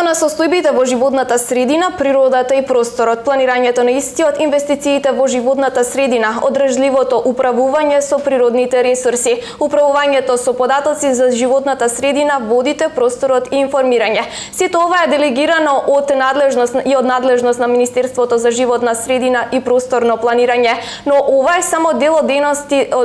на состојбите во животната средина, природата и просторот, планирањето на истиот, инвестициите во животната средина, одржливото управување со природните ресурси, управувањето со податоци за животната средина, водите, просторот и информирање. Сето ова е делегирано од надлежност на Министерството за животна средина и просторно планирање, но ова е само дел од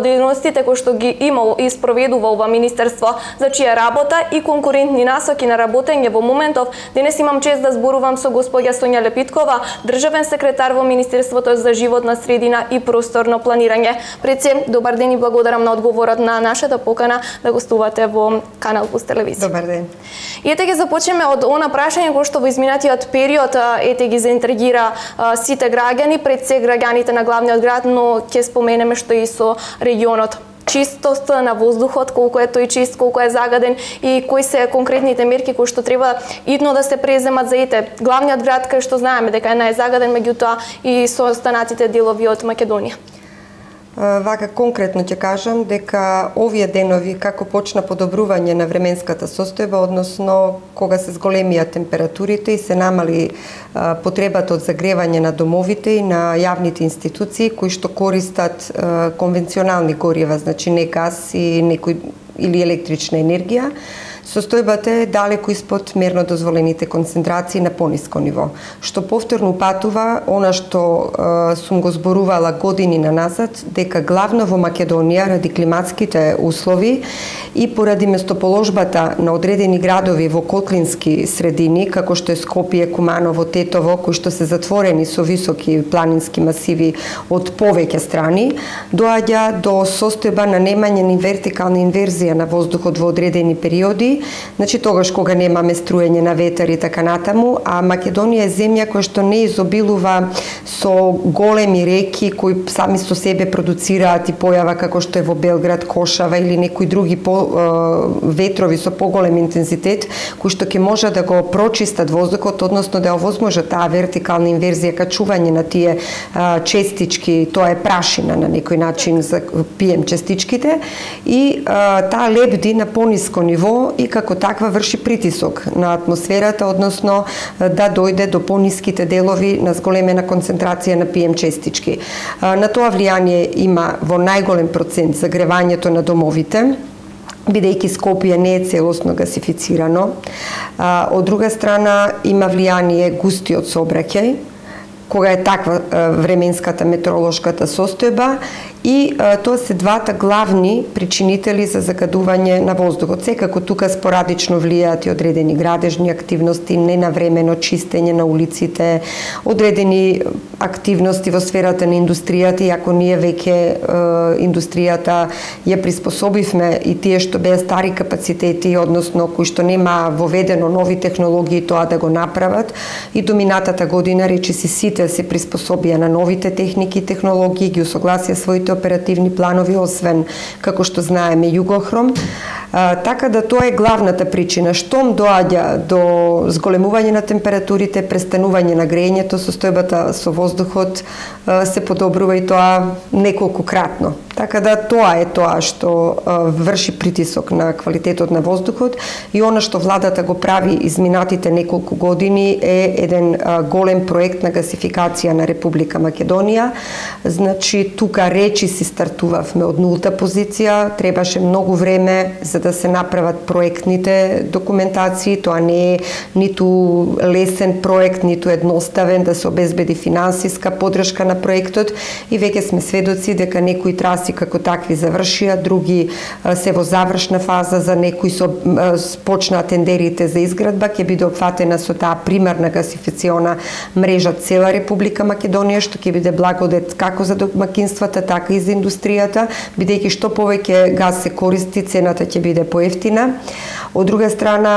дејностите кои што ги има и спроведува ова министерство, за чија работа и конкурентни насоки на работење во моментов. Денес имам чест да зборувам со госпоѓа Сонја Лепиткова, државен секретар во Министерството за животна средина и просторно планирање. Пред се, добар ден и благодарам на одговорот на нашата покана да гостувате во Канал Плюс телевизија. Добар ден. И ете ги започнеме од она прашање кој што во изминатиот период ете ги заинтригира сите граѓани, пред се граѓаните на главниот град, но ќе споменеме што и со регионот. Чистост на воздухот, колку е тој чист, колку е загаден и кои се конкретните мерки кои што треба идно да се преземат за ете главниот град кај што знаеме дека е најзагаден, меѓутоа и со останатите делови од Македонија. Вака конкретно ќе кажам дека овие денови како почна подобрување на временската состојба, односно кога се зголемија температурите и се намали потребата од загревање на домовите и на јавните институции кои што користат конвенционални горива, значи не газ и некој или електрична енергија, состојбата е далеку испод мерно дозволените концентрации на пониско ниво, што повторно упатува она што сум го зборувала години назад, дека главно во Македонија ради климатските услови и поради местоположбата на одредени градови во котлински средини, како што е Скопје, Куманово, Тетово, кои што се затворени со високи планински масиви од повеќе страни, доаѓа до состојба на немање ни вертикална инверзија на воздухот во одредени периоди, значи тогаш кога немаме струење на ветер и така натаму, а Македонија е земја која што не изобилува со големи реки кои сами со себе продуцираат и појава како што е во Белград, Кошава или некои други ветрови со поголем интензитет кои што ќе може да го прочистат воздухот, односно да овозможат таа вертикална инверзија, качување на тие честички, тоа е прашина на некој начин за PM честичките и таа лебди на пониско ниво и како таква врши притисок на атмосферата, односно да дојде до пониските делови на зголемена концентрација на PM честички. На тоа влијание има во најголем процент загревањето на домовите, бидејќи Скопје не е целосно гасифицирано. Од друга страна има влијание густиот сообраќај, кога е таква временската метеоролошката состојба и тоа се двата главни причинители за загадување на воздухот. Секако тука спорадично влијаат и одредени градежни активности, ненавремено чистење на улиците, одредени активности во сферата на индустријата, иако ние веќе индустријата ја приспособивме и тие што беа стари капацитети, односно кои што нема воведено нови технологии тоа да го направат, и до минатата година речиси сите се приспособија на новите техники и технологии, ги усогласија своите оперативни планови, освен, како што знаеме, Југохром. Така да тоа е главната причина. Штом доаѓа до зголемување на температурите, престанување на грејењето, состојбата со воздухот се подобрува и тоа неколкократно. Така да тоа е тоа што врши притисок на квалитетот на воздухот и она што владата го прави изминатите неколку години е еден голем проект на гасификација на Република Македонија. Значи тука речи си стартувавме од нулта позиција, требаше многу време за да се направат проектните документации, тоа не е ниту лесен проект, ниту едноставен, да се обезбеди финансиска поддршка на проектот и веќе сме сведоци дека некои траси како такви завршија, други се во завршна фаза, за некои почнаа тендерите за изградба, ќе биде опфатена со таа примарна гасификациона мрежа цела Република Македонија, што ќе биде благодет како за домакинствата, така и за индустријата, бидејќи што повеќе газ се користи, цената ќе биде поевтина. Од друга страна,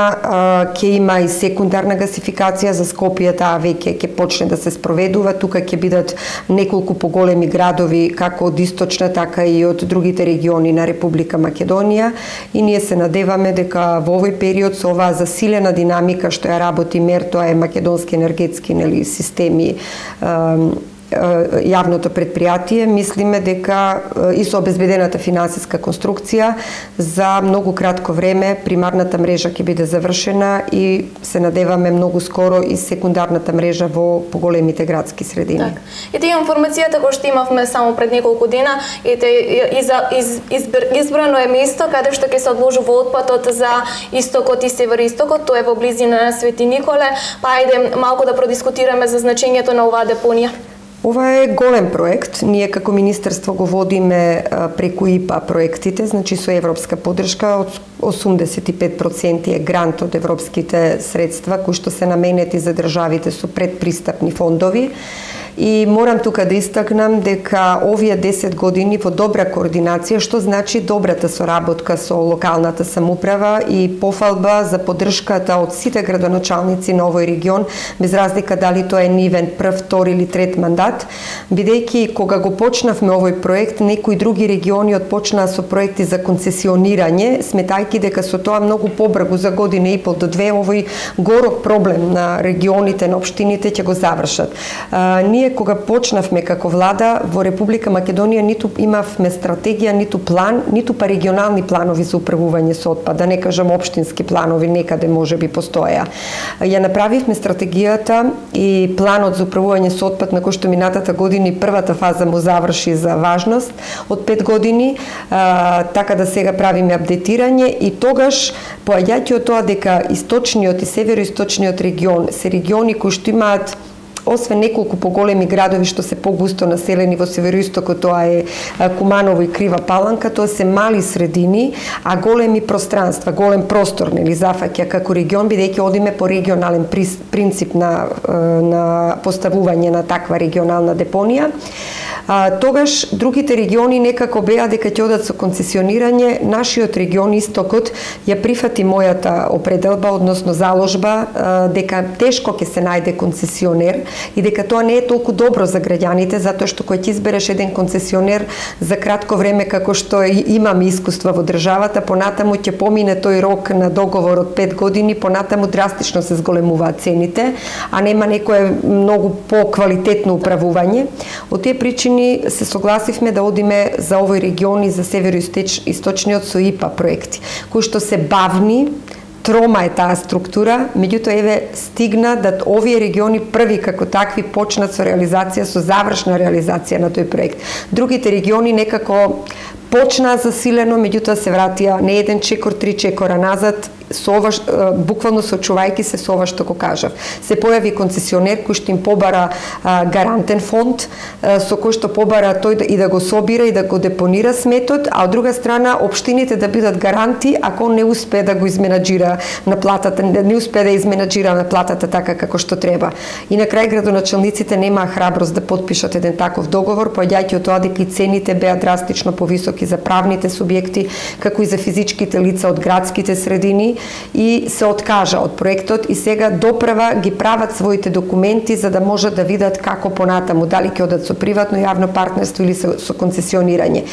ќе има и секундарна гасификација за Скопје, таа веќе ќе почне да се спроведува. Тука ќе бидат неколку поголеми градови, како од источна, така и од другите региони на Република Македонија. И ние се надеваме дека во овој период со оваа засилена динамика што ја работи МЕР, тоа е македонски енергетски системи, јавното предпријатие, мислиме дека и со обезбедената финансиска конструкција за многу кратко време примарната мрежа ќе биде завршена и се надеваме многу скоро и секундарната мрежа во поголемите градски средини. Так. И тие информацијата кои што имавме само пред неколку дена, избрано е место каде што ќе се одложува отпадот за истокот и североистокот, тоа е во близина на Свети Николе. Па ајде малку да продискутираме за значењето на оваа депонија. Ова е голем проект. Ние како министерство го водиме преку ИПА проектите, значи со европска поддршка, од 85% е грант од европските средства кои што се наменети за државите со предпристапни фондови. И морам тука да истакнам дека овие 10 години во добра координација, што значи добрата соработка со локалната самоуправа и пофалба за поддршката од сите градоначалници на овој регион, без разлика дали тоа е нивен прв, втори или трет мандат, бидејќи кога го почнавме овој проект, некои други региони отпочнаа со проекти за концесионирање, сметајќи дека со тоа многу побрзо за година и пол до две овој горок проблем на регионите, на општините ќе го завршат. Ние кога почнавме како влада во Република Македонија ниту имавме стратегија, ниту план, ниту па регионални планови за управување со отпад, да не кажам општински планови, некаде можеби постоеа. Ја направивме стратегијата и планот за управување со отпад на кој што минатата година првата фаза му заврши за важност од 5 години, така да сега правиме апдейтирање и тогаш поаѓајќи од тоа дека источниот и североисточниот регион се региони кои што имаат освен неколку поголеми градови што се погусто населени во североистокот, тоа е Куманово и Крива Паланка, тоа се мали средини, а големи пространства, голем простор нели зафаќа како регион, бидејќи одиме по регионален принцип на поставување на таква регионална депонија. Тогаш другите региони некако беа дека ќе одат со концесионирање, нашиот регион Истокот ја прифати мојата определба, односно заложба, дека тешко ќе се најде концесионер и дека тоа не е толку добро за граѓаните, затоа што кога ќе избереш еден концесионер за кратко време, како што имаме искуства во државата, понатаму ќе помине тој рок на договор од 5 години, понатаму драстично се зголемуваат цените, а нема некое многу поквалитетно управување. Од тие причини се согласивме да одиме за овој регион и за североисточниот со ИПА проекти, кои што се бавни, трома е таа структура, меѓутоа еве стигна да овие региони први како такви почнат со реализација, со завршна реализација на тој проект. Другите региони некако почнаа засилено, меѓутоа се вратија не еден чекор, 3 чекора назад, со ова, буквално сочувајќи се со ова што го кажав. Се појави концесионер кој што им побара гарантен фонд, со кој што побара тој и да го собира и да го депонира сметот, а од друга страна општините да бидат гаранти ако не успее да го изменаџира на платата, не успее да изменаџира на платата така како што треба. И на крај градоначалниците немаа храброст да потпишат еден таков договор, поаѓајќи од тоа дека цените беа драстично повисоки за правните субјекти, како и за физичките лица од градските средини, и се откажа од проектот и сега доправа ги прават своите документи за да можат да видат како понатаму, дали ќе одат со приватно јавно партнерство или со концесионирање.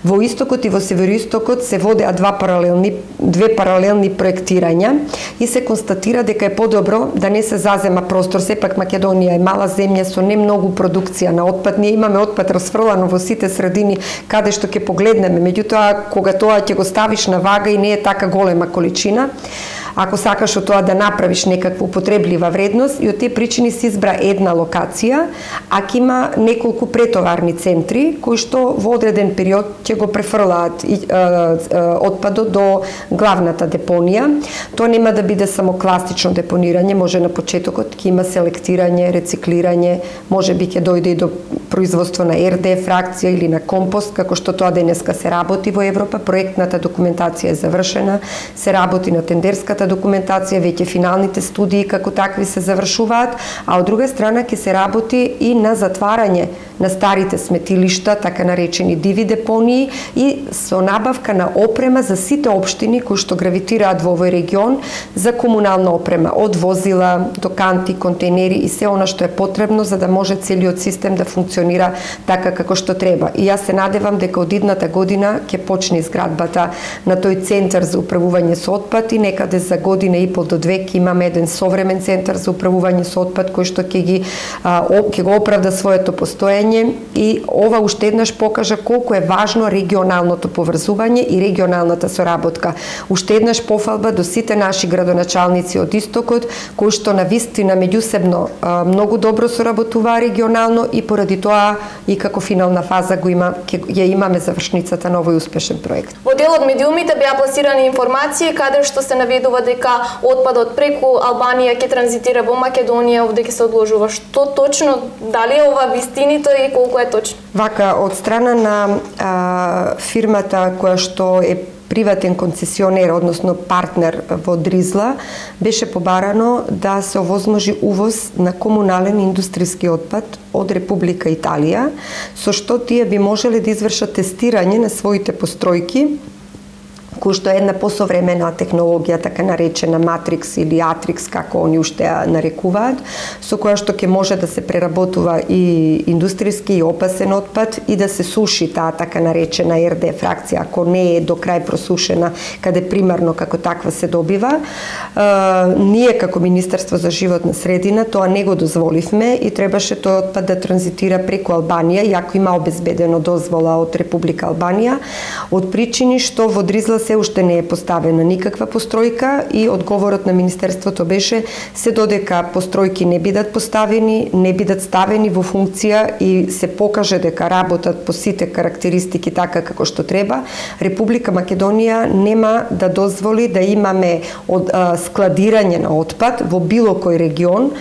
Во Истокот и во Североистокот се водеа две паралелни проектирања и се констатира дека е подобро да не се зазема простор. Сепак Македонија е мала земја со не многу продукција на отпад. Ние имаме отпад расфрлано во сите средини каде што ќе погледнеме. Меѓутоа, кога тоа ќе го ставиш на вага и не е така голема количина, ако сакаш од тоа да направиш некаква употреблива вредност, и од тие причини се избра една локација, а ќе има неколку претоварни центри кои што во одреден период ќе го префрлаат отпадот до главната депонија. Тоа нема да биде само класично депонирање, може на почетокот ќе има селектирање, рециклирање, можеби ќе дојде и до производство на РД фракција или на компост, како што тоа денеска се работи во Европа. Проектната документација е завршена, се работи на тендерската документација, веќе финалните студии како такви се завршуваат, а од друга страна ќе се работи и на затварање на старите сметилишта, така наречени диви депонии, и со набавка на опрема за сите општини кои што гравитираат во овој регион за комунална опрема, од возила до канти, контейнери и се она што е потребно за да може целиот систем да функционира така како што треба. И јас се надевам дека од идната година ќе почне изградбата на тој центар за управување со отпад и некаде за година и пол до две ќе имаме еден современ центар за управување со отпад кој што ќе го оправда своето постоење, и ова уште еднаш покажа колку е важно регионалното поврзување и регионалната соработка. Уште еднаш пофалба до сите наши градоначалници од истокот кои што навистина меѓусебно многу добро соработуваа регионално, и поради тоа и како финална фаза ја имаме завршницата на овој успешен проект. Во дел од медиумите беа пласирани информации каде што се наведува дека отпадот преку Албанија ќе транзитира во Македонија, овде ќе се одложува. Што точно, дали е ова вистиното и колку е точно? Вака, од страна на фирмата која што е приватен концесионер, односно партнер во Дризла, беше побарано да се овозможи увоз на комунален индустријски отпад од Република Италија, со што тие би можеле да извршат тестирање на своите постројки, кој што е една посовремена технологија, така наречена Матрикс или Атрикс, како они уште ја нарекуваат, со која што ќе може да се преработува и индустријски и опасен отпад и да се суши таа така наречена РД фракција, ако не е до крај просушена, каде примарно како таква се добива. Ние како Министерство за животна средина тоа не го дозволивме и требаше тој отпад да транзитира преку Албанија, иако има обезбедено дозвола од Република Албанија, од причини што во Дризла се уште не е поставена никаква постројка, и одговорот на Министерството беше се додека постројки не бидат поставени, не бидат ставени во функција и се покаже дека работат по сите карактеристики така како што треба, Република Македонија нема да дозволи да имаме складирање на отпад во било кој регион,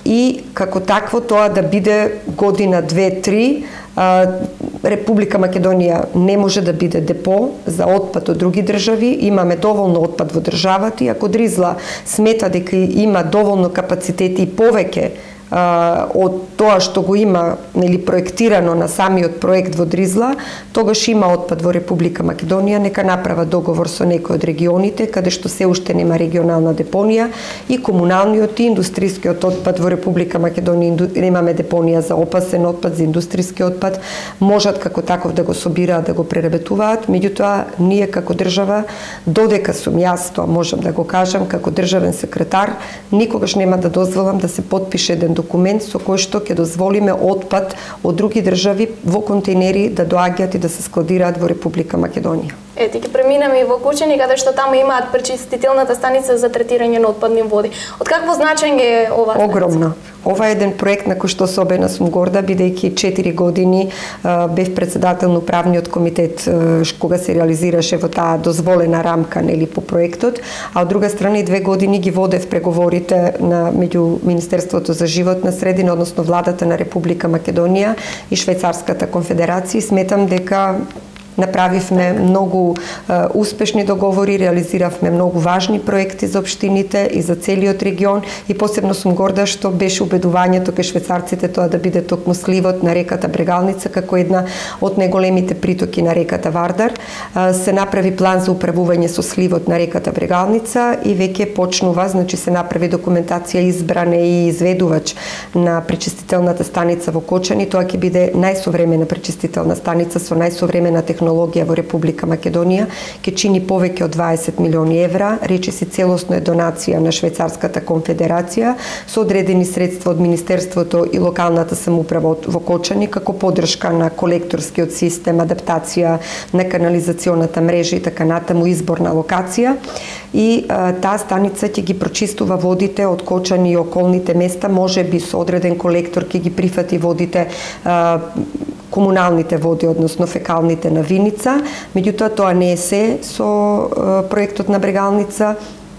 и како такво тоа да биде година, 2-3, Република Македонија не може да биде депо за отпад од други држави. Имаме доволно отпад во државата, и ако Дризла смета дека има доволно капацитети и повеќе од тоа што го има проектирано на самиот проект во Дризла, тогаш има отпад во Република Македонија, нека направа договор со некој од регионите каде што се уште нема регионална депонија, и комуналниот и индустријскиот отпад во Република Македонија немаме депонија за опасен отпад, за индустријски отпад, можат како таков да го собираат, да го преработуваат. Меѓутоа, ние како држава, додека сум јас, тоа можам да го кажам како државен секретар, никогаш нема да дозволам да се потпише еден документ со кој што ќе дозволиме отпад од други држави во контейнери да доаѓаат и да се складираат во Република Македонија. Ете, ќе преминеме и во Кучени, каде што таму имаат пречистителната станица за третирање на отпадни води. Од какво значење е ова станица? Огромно. Ова е еден проект на кој што особено сум горда, бидејќи 4 години бев председател на управниот комитет кога се реализираше во таа дозволена рамка по проектот, а од друга страна и 2 години ги водев преговорите меѓу Министерството за животна средина, односно владата на Република Македонија и Швајцарската конфедерација. Сметам дека направивме многу успешни договори, реализиравме многу важни проекти за општините и за целиот регион, и посебно сум горда што беше убедувањето кај швајцарците тоа да биде токму сливот на реката Брегалница како една од најголемите притоки на реката Вардар. Се направи план за управување со сливот на реката Брегалница и веќе почнува, значи се направи документација, избран е и изведувач на пречистителната станица во Кочани. Тоа ќе биде најсовремена пречистителна станица со најсовремена технологија во Република Македонија, ќе чини повеќе од 20 милиони евра, речиси целосно е донација на Швајцарската конфедерација со одредени средства од Министерството и локалната самоуправа во Кочани како поддршка на колекторскиот систем, адаптација на канализационата мрежа и така натаму, избор на локација. И таа станица ќе ги прочистува водите од Кочани и околните места, можеби со одреден колектор ќе ги прифати водите, комуналните води, односно фекалните на Виница. Меѓутоа, тоа не е се со проектот на Брегалница.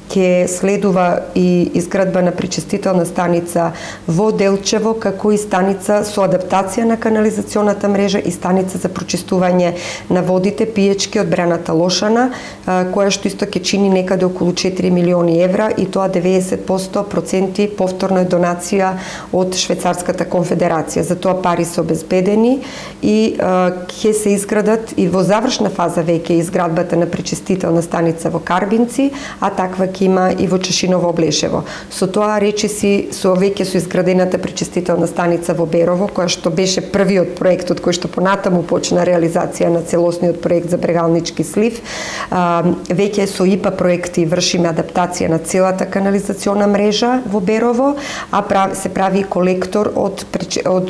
Ќе следува и изградба на пречистителна станица во Делчево, како и станица со адаптација на канализационата мрежа и станица за прочистување на водите пиечки од браната Лошана, која што исто ќе чини некаде околу 4 милиони евра, и тоа 90% повторно е донација од Швајцарската конфедерација. За тоа пари се обезбедени и ќе се изградат и во завршна фаза веќе изградбата на пречистителна станица во Карбинци, а таква ќе има и во Чешиново Облешево. Со тоа речиси со веќе со изградената пречистителна станица во Берово, која што беше првиот проект од кој што понатаму почна реализација на целосниот проект за Брегалнички слив, веќе со ИПА проекти вршиме адаптација на целата канализациона мрежа во Берово, а се прави колектор од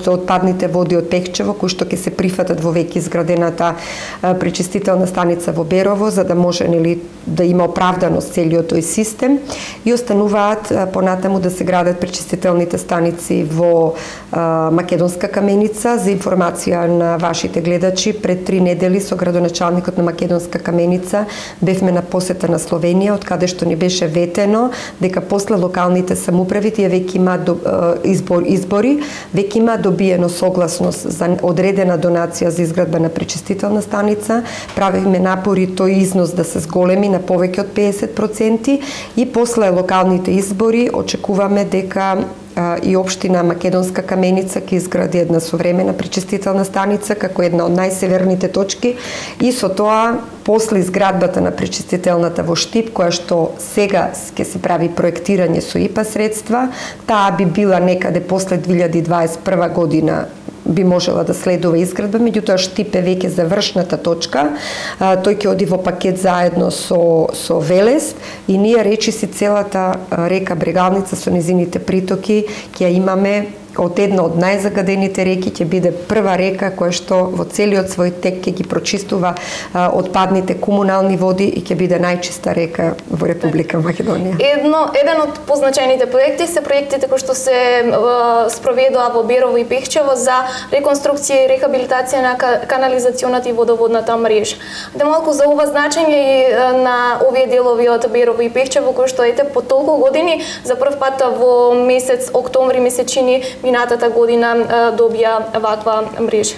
отпадните води од Пехчево, кои што ќе се прифатат во веќе изградената пречистителна станица во Берово, за да може да има оправданост целиот тој систем, и остануваат понатаму да се градат пречистителните станици во Македонска Каменица. За информација на вашите гледачи, пред 3 недели со градоначалникот на Македонска Каменица бевме на посета на Словенија, од каде што ни беше ветено дека после локалните самоуправи тие веќе имаат избори, веќе има добиено согласност за одредена донација за изградба на пречистителна станица. Правиме напори тој износ да се зголеми на повеќе од 50% и после локалните избори очекуваме дека и општина Македонска Каменица ќе изгради една современа пречистителна станица како една од најсеверните точки, и со тоа после изградбата на пречистителната во Штип, која што сега ќе се прави проектирање со ИПА средства, таа би била некаде после 2021 година би можела да следува изградба, меѓутоа Штип е веќе завршната точка. Тој ќе оди во пакет заедно со Велес, и ние речиси целата река Брегалница со низините притоки ќе ја имаме од една од најзагадените реки, ќе биде прва река која што во целиот свој тек ќе ги прочистува отпадните комунални води и ќе биде најчиста река во Република Македонија. Еден од позначајните проекти се проектите кои што се спроведува во Берово и Пехчево за реконструкција и рехабилитација на канализационата и водоводната мрежа. Да малку за ова значење и на овие делови од Берово и Пехчево, кои што по толку години за прв пат во месец октомври месечини минатата година добија ваква мрежа.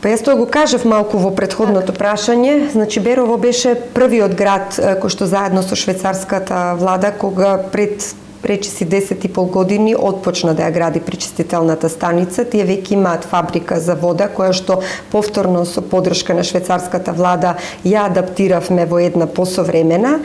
Па јас тоа го кажав малку во претходното прашање. Значи Берово беше првиот град кој што заедно со швајцарската влада, кога пред речиси 10,5 години отпочна да ја гради пречистителната станица. Тие веќе имаат фабрика за вода, која што повторно со поддршка на швајцарската влада ја адаптиравме во една посовремена,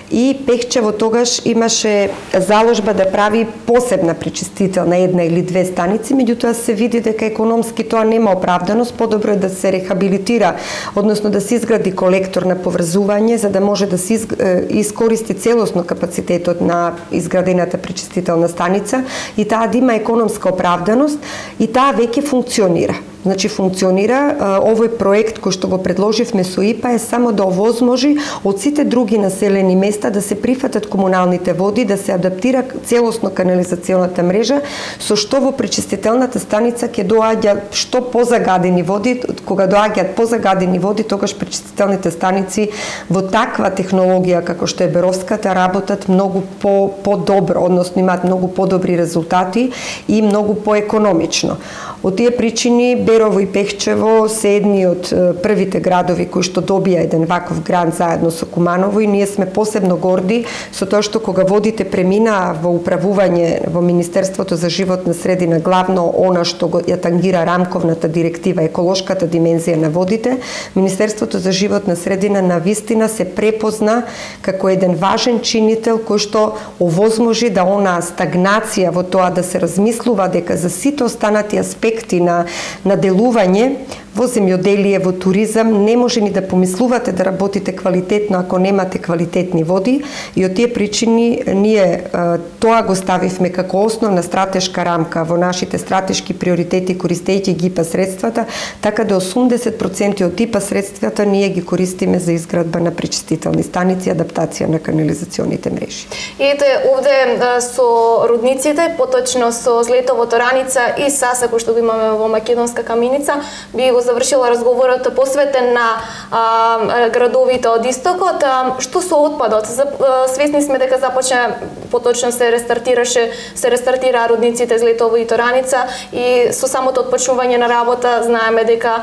и Пехчево тогаш имаше заложба да прави посебна пречистителна една или две станици, меѓутоа се види дека економски тоа нема оправданост, подобро е да се рехабилитира, односно да се изгради колектор на поврзување, за да може да се искористи целосно капацитетот на изградената пречистителна станица и таа да има економска оправданост, и таа веќе функционира. Значи функционира. Овој проект кој што го предложивме со ИПА е само да овозможи од сите други населени места да се прифатат комуналните води, да се адаптира целосно канализационата мрежа, со што во пречистителната станица ќе доаѓа што позагадени води. Кога доаѓаат позагадени води, тогаш пречистителните станици во таква технологија како што е Беровската работат многу по-добро, односно имаат многу подобри резултати и многу поекономично. Од тие причини Берово и Пехчево се едни од првите градови кои што добија еден ваков грант заедно со Куманово, и ние сме посебно горди со тоа што кога водите преминаа во управување во Министерството за животна средина, главно она што ја тангира рамковната директива, еколошката димензија на водите, Министерството за животна средина навистина се препозна како еден важен чинител кој што овозможи да онаа стагнација во тоа да се размислува дека за сите останати аспекти на делување во земјоделие, во туризам, не може ни да помислувате да работите квалитетно ако немате квалитетни води, и од тие причини ние тоа го ставивме како основна стратешка рамка во нашите стратешки приоритети, користејќи ги ИПА средствата, така да 80% од ИПА средствата ние ги користиме за изградба на пречистителни станици и адаптација на канализационите мрежи. И ете овде со рудниците, поточно со злетовото Раница и Саса кој што го имаме во Македонска Каменица, би го завршила разговорот посветен на градовите од истокот. Што со отпадот? Свесни сме дека започна, поточно се рестартира рудниците Злетово и Тораница, и со самото отпочнување на работа знаеме дека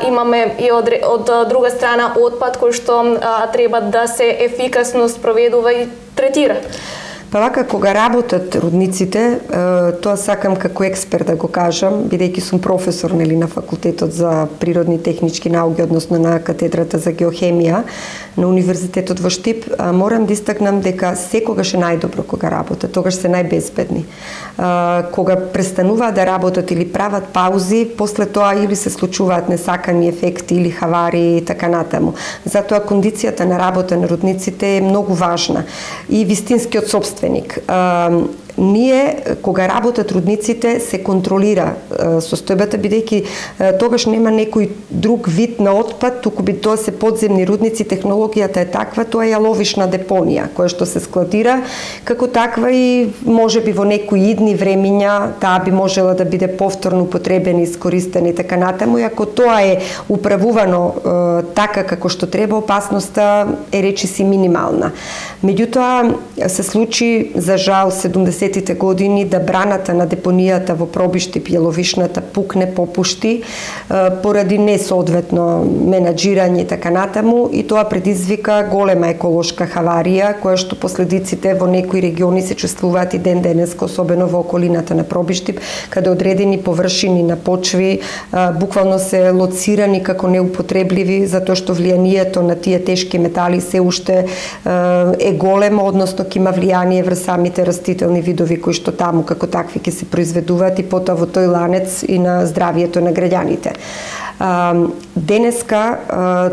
имаме и од друга страна отпад кој што треба да се ефикасно спроведува и третира. Па вака, кога работат рудниците, тоа сакам како експерт да го кажам, бидејќи сум професор на факултетот за природни технички науки, односно на катедрата за геохемија на Универзитетот во Штип, морам да истакнам дека секогаш е најдобро кога работат, тогаш се најбезбедни. Кога престануваат да работат или прават паузи, после тоа или се случуваат несакани ефекти или хавари и така натаму. Затоа кондицијата на работа на рудниците е многу важна и вистинскиот собственик. Ние, кога работат рудниците, се контролира состојбата, бидејќи тогаш нема некој друг вид на отпад, туку би тоа се подземни рудници, технологијата е таква, тоа е јаловишна депонија, која што се складира, како таква и можеби во некои идни времиња таа би можела да биде повторно употребена, искористена и така натаму, и ако тоа е управувано така како што треба, опасноста е речиси минимална. Меѓутоа, се случи, за жал, 70-тите години да браната на депонијата во Пробиштип, јаловишната, пукне, попушти, поради несоодветно менаџирање и така натаму, и тоа предизвика голема еколошка хаварија, која што последиците во некои региони се чувствуваат и ден денеска, особено во околината на Пробиштип, каде одредени површини на почви буквално се лоцирани како неупотребливи, затоа што влијанието на тие тешки метали се уште е големо, односно ќе има влијание врз самите растителни видови кои што таму како такви ќе се произведуваат и потоа во тој ланец и на здравието на граѓаните. Денеска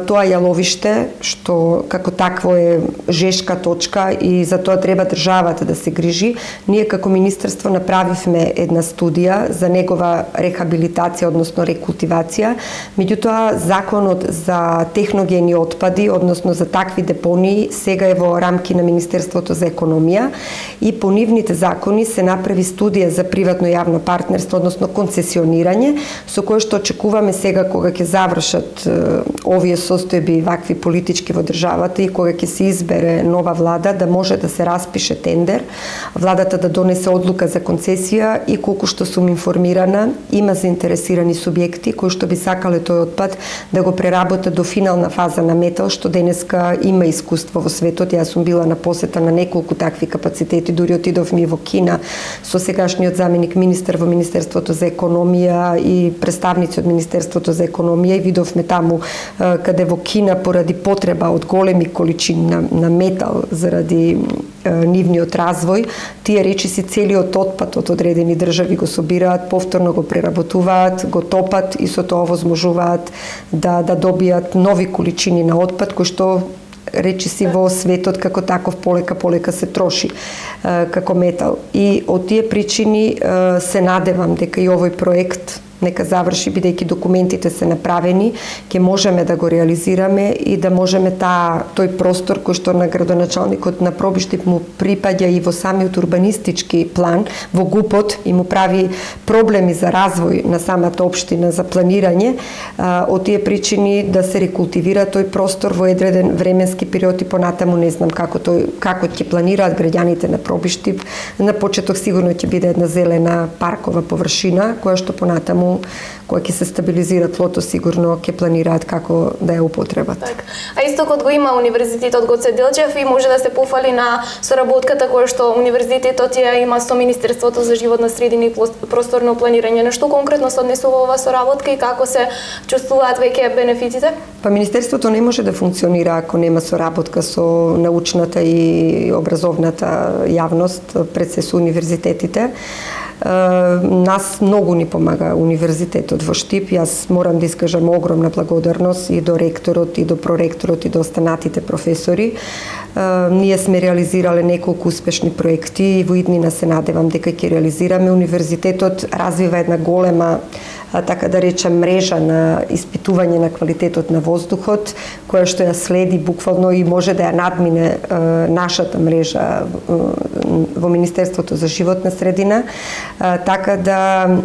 тоа јаловиште, што како такво е жешка точка и за тоа треба државата да се грижи, ние како министерство направивме една студија за негова рехабилитација, односно рекултивација. Меѓутоа, законот за техногени отпади, односно за такви депонии, сега е во рамки на Министерството за економија и по нивните закони се направи студија за приватно-јавно партнерство, односно концесионирање, со кое што очекуваме сега кога ќе завршат овие состојби вакви политички во државата и кога ќе се избере нова влада, да може да се распише тендер, владата да донесе одлука за концесија и колку што сум информирана, има заинтересирани субјекти кои што би сакале тој отпад да го преработат до финална фаза на метал, што денеска има искуство во светот. Јас сум била на посета на неколку такви капацитети, дури отидовме и во Кина со сегашниот заменик министер во Министерството за економија и представници од Министерството за економија и видовме таму каде во Кина поради потреба од големи количини на метал заради нивниот развој, тие речиси целиот отпад од одредени држави го собираат, повторно го преработуваат, го топат и со тоа овозможуваат да добијат нови количини на отпад кој што речиси во светот како таков полека се троши како метал. И од тие причини се надевам дека и овој проект нека заврши, бидејќи документите се направени, ќе можеме да го реализираме и да можеме тој простор кој што на градоначалникот на Пробиштип му припаѓа и во самиот урбанистички план, во ГУПот и му прави проблеми за развој на самата општина за планирање, од тие причини да се рекултивира тој простор во едреден временски период и понатаму не знам како ќе планираат граѓаните на Пробиштип. На почеток сигурно ќе биде една зелена паркова површина која што понатаму која ќе се стабилизира тлото, сигурно ќе планираат како да ја употребат. Так. А истокот го има Универзитетот Гоце Делчев и може да се пофали на соработката која што Универзитетот ја има со Министерството за животна средина и просторно планирање. На што конкретно се однесува оваа соработка и како се чувствуваат веќе бенефитите? Па Министерството не може да функционира ако нема соработка со научната и образовната јавност, пред се со универзитетите. Нас многу ни помага Универзитетот во Штип. Јас морам да искажам огромна благодарност и до ректорот, и до проректорот, и до останатите професори. Ние сме реализирале неколку успешни проекти и во иднина се надевам дека ќе реализираме. Универзитетот развива една голема, така да речем, мрежа на испитување на квалитетот на воздухот, која што ја следи буквално и може да ја надмине нашата мрежа во Министерството за животна средина, така да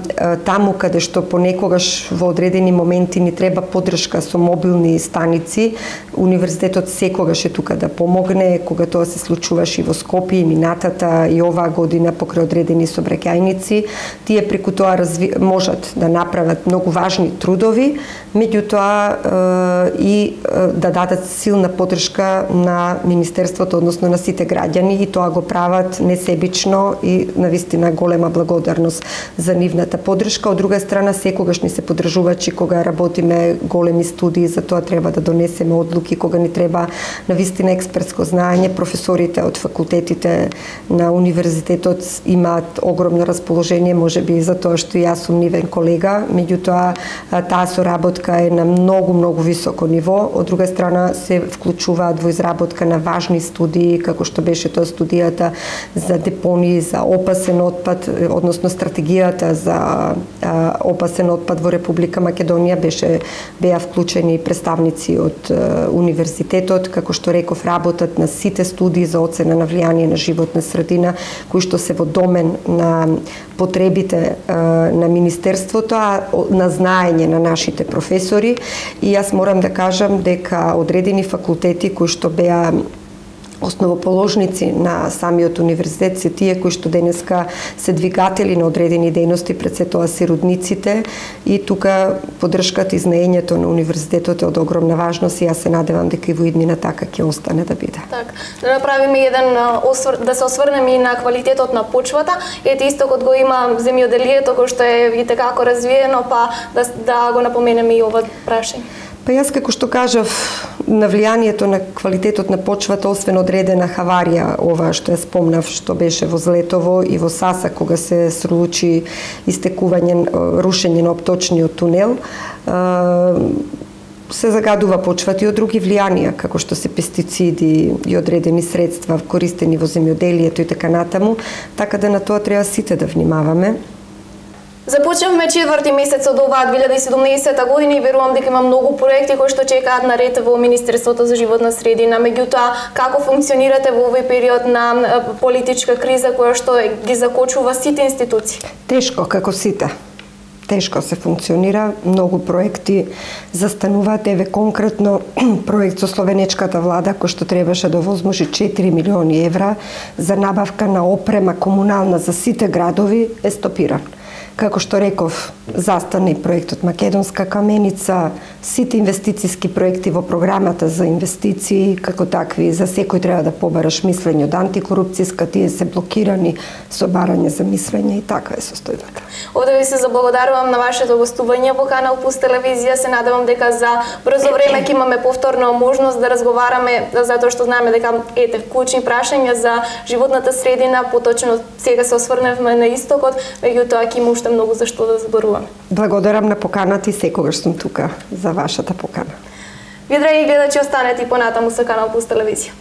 таму каде што понекогаш во одредени моменти ни треба поддршка со мобилни станици, Универзитетот секогаш е тука да помогне, кога тоа се случуваше и во Скопје и минатата и оваа година покрај одредени сообраќајници, тие преку тоа можат да направат многу важни трудови, меѓутоа и да дадат силна поддршка на Министерството, односно на сите граѓани, и тоа го прават несебично и навистина голема благодарност за нивната поддршка. Од друга страна, секогаш ни се поддржувачи кога работиме големи студии, за тоа треба да донесеме одлуки, кога ни треба навистина експертско знаење. Професорите од факултетите на универзитетот имаат огромно расположение, можеби за тоа што јас сум нивен колега, меѓутоа таа соработка е на многу високо ниво. Од друга страна се вклучуваат во изработка на важни студии, како што беше тоа студијата за депонии, за опасен отпад, односно стратегијата за опасен отпад во Република Македонија, беа вклучени представници од универзитетот, како што реков, работат на сите студии за оцена на влијание на животна средина, кои што се во домен на потребите на Министерството, а на знаење на нашите професори. И јас морам да кажам дека одредени факултети кои што беа основоположници на самиот универзитет се тие кои што денеска се двигатели на одредени дејности, пред се тоа се родниците, и тука поддршката и знаењето на универзитетот е од огромна важност, и јас се надевам дека и во иднина така ќе остане да биде. Так, да направиме да се осврнеме и на квалитетот на почвата. Ете, истокот го има земјоделието кој што е и како развиено, па да го напоменеме и ова прашање. Па јас, како што кажав, на влијанието на квалитетот на почвата, освен одредена хаварија, ова што ја спомнав, што беше во Злетово и во Сасак, кога се случи рушење на опточниот тунел, се загадува почвата и од други влијанија, како што се пестициди и одредени средства користени во земјоделието и така натаму, така да на тоа треба сите да внимаваме. Започнавме 4-ти месец од оваа 2017 година и верувам дека има многу проекти кои што чекаат на ред во Министерството за животна средина. Меѓутоа, како функционирате во овој период на политичка криза која што ги закочува сите институции? Тешко, како сите. Тешко се функционира, многу проекти застануваат. Еве конкретно проект со словенечката влада кој што требаше да овозможи 4 милиони евра за набавка на опрема комунална за сите градови е стопиран. Како што реков, застана и проектот Македонска каменица, сите инвестициски проекти во програмата за инвестиции, како такви, за секој треба да побараш мислење од антикорупцијска, тие се блокирани со барање за мислење, и така е состојбата. Овде ви се заблагодарувам на вашето гостување во Канал Плюс телевизија. Се надевам дека за брзо време ќе имаме повторна можност да разговараме, затоа што знаеме дека клучни прашања за животната средина, поточно сега се осврнавме на истокот, меѓутоа ќе има уште многу за што да зборуваме. Благодарам на поканата и секогаш сум тука за вашата покана. Вие, драги гледачи, останете и понатаму со Канал Плюс телевизија.